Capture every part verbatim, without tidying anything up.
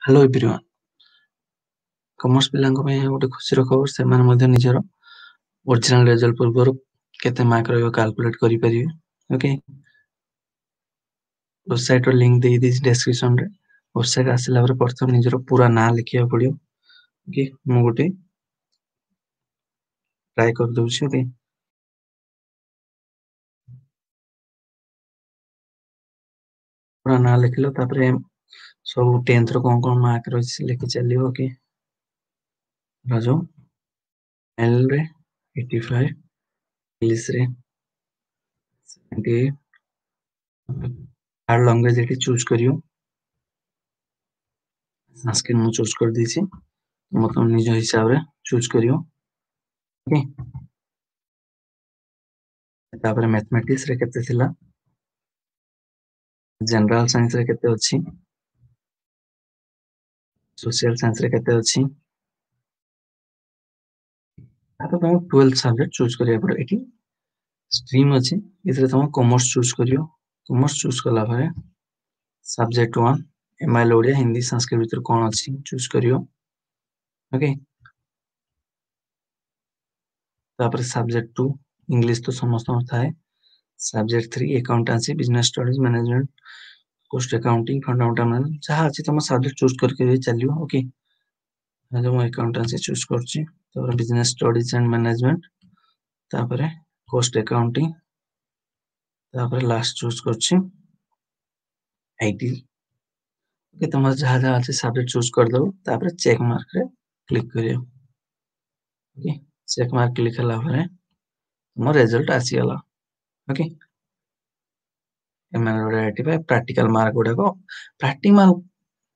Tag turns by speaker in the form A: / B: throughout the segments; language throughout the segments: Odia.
A: Hello everyone. କମର୍ସ ପିଲାଙ୍କ ପାଇଁ ଏହା ଗୋଟେ ଖୁସିର ଖବର, ସେମାନେ ମଧ୍ୟ ନିଜର ଓରିଜିନାଲ ରେଜଲ୍ଟ ପୂର୍ବରୁ କେତେ ମାର୍କ ରହିବ କାଲକୁଲେଟ୍ କରିପାରିବେ। ଓକେ, ୱେବସାଇଟର ଲିଙ୍କ ଦେଇଦେଇଛି ଡେସ୍କ୍ରିପସନରେ। ୱେବସାଇଟ ଆସିଲା ପରେ ପ୍ରଥମେ ନିଜର ପୁରା ନାଁ ଲେଖିବାକୁ ପଡ଼ିବ। ଓକେ, ମୁଁ ଗୋଟେ ଟ୍ରାଏ କରିଦଉଛି। ଓକେ, ପୁରା ନାଁ ଲେଖିଲ, ତାପରେ ସବୁ ଟେନ୍ଥର କଣ କଣ ମାର୍କ ରହିଛି ଲେଖି ଚାଲିବ। ଓକେ, ରାଜୁ ଏଲ ରେ ଏଇଟି ଫାଇଭ, ଇଂଲିଶ ରେ ସେଭେଣ୍ଟି ଏଇଟ, ଥାର୍ଡ ଲାଙ୍ଗୁଏଜ ଏଠି ଚୁଜ୍ କରିବ। ସାଂସ୍କ୍ରିଟ ମୁଁ ଚୁଜ୍ କରିଦେଇଛି, ତମ ତମ ନିଜ ହିସାବରେ ଚୁଜ୍ କରିବ। ଓକେ, ତାପରେ ମ୍ୟାଥମେଟିକ୍ସ ରେ କେତେ ଥିଲା, ଜେନେରାଲ ସାଇନ୍ସ ରେ କେତେ ଅଛି, ସୋସିଆଲ ସାଇନ୍ସ ରେ କେତେ ଅଛି। ତାପରେ ତମକୁ ଟୁଏଲ୍ଥ ସବଜେକ୍ଟ ଚୁଜ୍ କରିବାକୁ ପଡ଼ିବ। ଏଠି ଷ୍ଟ୍ରିମ୍ ଅଛି, ଏଥିରେ ତମ କମର୍ସ ଚୁଜ୍ କରିବ। କମର୍ସ ଚୁଜ୍ କଲା ପରେ subject one M I L Odia Hindi Sanskrit ଭିତରୁ କଣ ଅଛି ଚୁଜ୍ କରିବ। ଓକେ, ତାପରେ ସବଜେକ୍ଟ ଟୁ ଇଂଲିଶ ତ ସମସ୍ତଙ୍କର ଥାଏ। Subject three accountancy, business studies, management, cost accounting, fundamental management, ଯାହା ଅଛି ତମ ସବଜେକ୍ଟ ଚୁଜ୍ କରିକି ଚାଲିବ। ଓକେ, ମୁଁ ଆକାଉଣ୍ଟାନ୍ସି ଚୁଜ୍ କରୁଛି, ତାପରେ ବିଜନେସ ଷ୍ଟଡିଜ ଆଣ୍ଡ ମ୍ୟାନେଜମେଣ୍ଟ, ତାପରେ କୋଷ୍ଟ ଆକାଉଣ୍ଟିଂ, ତାପରେ ଲାଷ୍ଟ ଚୁଜ୍ କରୁଛି IT. ଓକେ, ତମର ଯାହା ଯାହା ଅଛି ସବଜେକ୍ଟ ଚୁଜ୍ କରିଦବ, ତାପରେ ଚେକ୍ ମାର୍କରେ କ୍ଲିକ୍ କରିବ। ଓକେ, ଚେକ୍ ମାର୍କ କ୍ଲିକ୍ ହେଲା ପରେ ତମ ରେଜଲ୍ଟ ଆସିଗଲା। ଓକେ, ପ୍ରାକ୍ଟିକାଲ ମାର୍କ ଗୁଡାକ ପ୍ରାକ୍ଟିକାଲ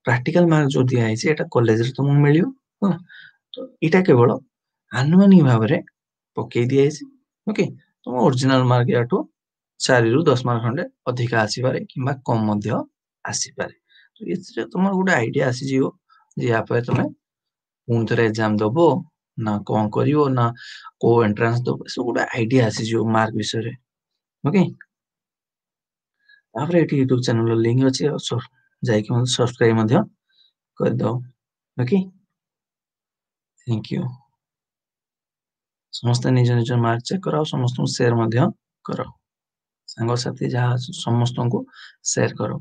A: ପ୍ରାକ୍ଟିକାଲ ମାର୍କ ଯୋଉ ଦିଆହେଇଛି ଏଟା କଲେଜରେ ତମକୁ ମିଳିବ। ହେଲା, ତ ଏଇଟା କେବଳ ଆନୁମାନିକ ଭାବରେ ପକେଇ ଦିଆଯାଇଛି। ଓକେ, ତମ ଓରିଜିନାଲ ମାର୍କ ୟାଠୁ ଚାରିରୁ ଦଶ ମାର୍କ ଖଣ୍ଡେ ଅଧିକା ଆସିପାରେ କିମ୍ବା କମ ମଧ୍ୟ ଆସିପାରେ। ତ ଏଥିରେ ତମର ଗୋଟେ ଆଇଡିଆ ଆସିଯିବ ଯେ ୟା ପରେ ତମେ ପୁଣି ଥରେ ଏକ୍ଜାମ ଦବ ନା କଣ କରିବ ନା କୋଉ ଏଣ୍ଟ୍ରାନ୍ସ ଦବ, ଏସବୁ ଗୋଟେ ଆଇଡିଆ ଆସିଯିବ ମାର୍କ ବିଷୟରେ। ଓକେ, ତାପରେ ଏଠି ୟୁଟ୍ୟୁବ ଚ୍ୟାନେଲର ଲିଙ୍କ ଅଛି, ଆଉ ଯାଇକି ମଧ୍ୟ ସବସ୍କ୍ରାଇବ ମଧ୍ୟ କରିଦବ। Okay, thank you. ସମସ୍ତେ ନିଜ ନିଜ ମାର୍କ ଚେକ୍ କର, ଆଉ ସମସ୍ତଙ୍କୁ ସେୟାର ମଧ୍ୟ କର, ସାଙ୍ଗସାଥି ଯାହା ଅଛି ସମସ୍ତଙ୍କୁ ସେୟାର କର।